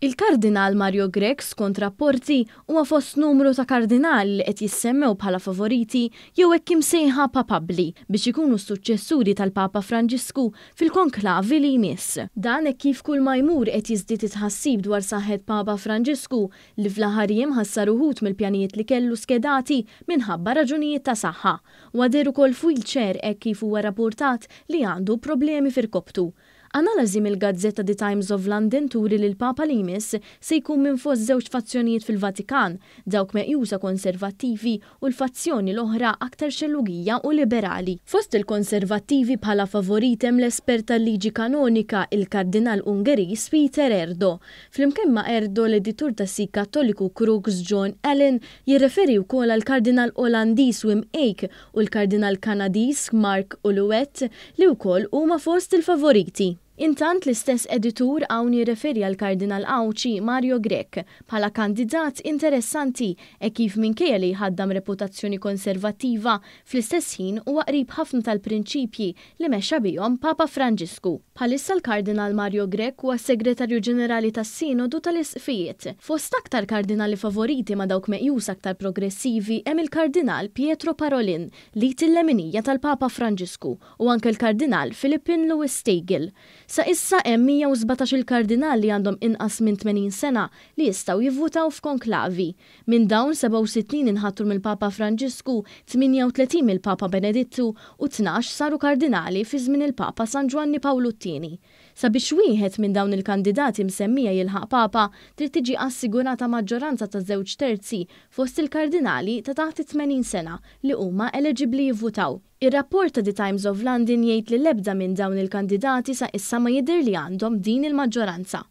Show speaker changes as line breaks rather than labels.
Il-Kardinal Mario Grech, skont rapporti, huwa fost numru ta' kardinali li qed jissemmew bħala favoriti jew hekk imsejħa papabbli biex ikunu s-suċċessuri tal-Papa Franġisku fil-konklavi li jmiss. Dan hekk kif kull ma jmur qed jiżdied it-tħassib dwar saħħet Papa Franġisku li fl-aħħar jiem ħassar uħud mill-pjanijiet li kellu skedati minħabba raġunijiet ta' saħħa. Huwa deher ukoll f'wheelchair hekk kif huwa rappurtat li għandu problemi f'irkopptu. Analiżi mill-gazzetta The Times of London turi li l-Papa li jmiss se jkun minn fost żewġ fazzjonijiet fil-Vatikan, dawk meqjusa konservattivi u l-fazzjoni l-oħra aktar xellugija u liberali. Fost il-konservattivi bħala favorit hemm l-espert tal-liġi kanonika, il-Kardinal Ungeriż Peter Erdo. Flimkien ma' Erdo, l-editur tas-sit Kattoliku Crux John Allen jirreferi wkoll għall-Kardinal Olandiż Wim Eijk u l-Kardinal Kanadiż Marc Ouellet li wkoll huma fost il-favoriti. Intant l-istess editur hawn jirreferi għall-Kardinal Għawdxi Mario Grech bħala kandidat interessanti hekk kif minkejja li jħaddam reputazzjoni konservattiva fl-istess ħin huwa qrib ħafna tal-prinċipji li mexxa bihom Papa Franġisku. Bħalissa l-Kardinal Mario Grech huwa s-Segretarju Ġenerali tas-Sinodu tal-Isqfijiet. Fost aktar kardinali favoriti ma' dawk meqjusa aktar progressivi hemm il-Kardinal Pietro Parolin l-id il-leminija tal-Papa Franġisku u anke l-Kardinal Filippin Louis Stagel. Sa issa hemm 117-il kardinal li għandhom inqas minn 80 sena li jistgħu jivvutaw f'konklavi. Minn dawn 67 inħatru mill-Papa Franġisku, 38 mill-Papa Benedittu u 12 saru kardinali fi żmien il-Papa San Ġwanni Pawlu t-Tieni. Sabiex wieħed minn dawn il-kandidati msemmija jilħaq Papa, trid tiġi assigurata maġġoranza ta' żewġ terzi fost il-kardinali ta' taħt it-80 sena li huma eleġibbli jivvutaw. Ir-rapport ta' The Times of London jgħid li l-ebda minn dawn il-kandidati sa issa ma jidher li għandhom din il-maġġoranza.